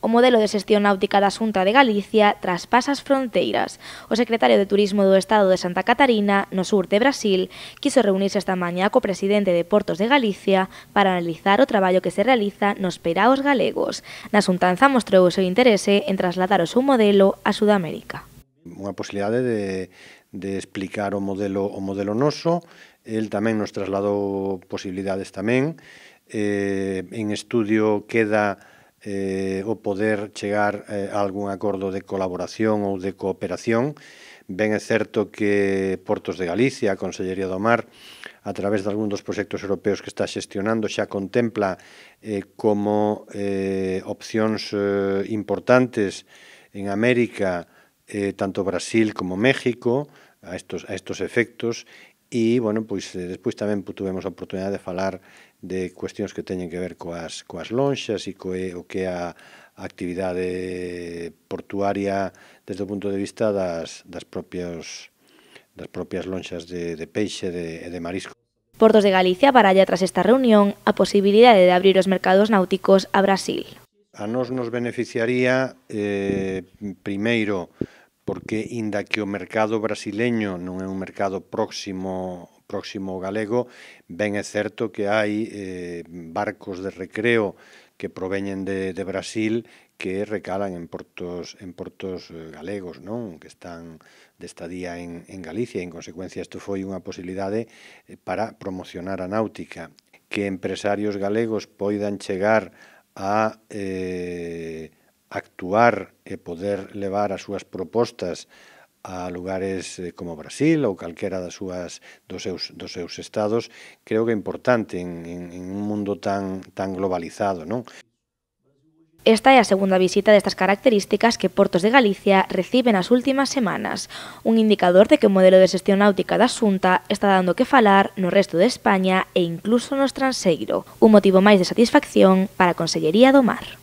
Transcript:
O modelo de xestión náutica da Xunta de Galicia traspasa as fronteiras. O secretario de Turismo do Estado de Santa Catarina, no sur de Brasil, quiso reunirse esta mañá co presidente de Portos de Galicia para analizar o traballo que se realiza nos peiraos galegos. Na xuntanza mostrou o seu interese en trasladar o seu modelo a Sudamérica. Unha posibilidade de explicar o modelo noso. El tamén nos trasladou posibilidades tamén. En estudio queda o poder chegar a algún acordo de colaboración ou de cooperación. Ben é certo que Portos de Galicia, a Consellería do Mar, a través de algún dos proxectos europeos que está xestionando, xa contempla como opcións importantes en América, tanto Brasil como México, a estos efectos. E, bueno, pois despois tamén tuvemos a oportunidade de falar de cuestións que teñen que ver coas lonxas e o que é a actividade portuaria desde o punto de vista das propias lonxas de peixe e de marisco. Portos de Galicia baralla tras esta reunión a posibilidade de abrir os mercados náuticos a Brasil. A nos beneficiaría, primeiro, porque, inda que o mercado brasileño non é un mercado próximo ao galego, ben é certo que hai barcos de recreo que proveñen de Brasil que recalan en portos galegos, non? Que están de estadía en Galicia, e, en consecuencia, isto foi unha posibilidade para promocionar a náutica. Que empresarios galegos poidan chegar a actuar e poder levar as súas propostas a lugares como Brasil ou calquera dos seus estados, creo que é importante en un mundo tan globalizado, non? Esta é a segunda visita destas características que Portos de Galicia recibe nas últimas semanas, un indicador de que o modelo de xestión náutica da Xunta está dando que falar no resto de España e incluso no estranxeiro, un motivo máis de satisfacción para a Consellería do Mar.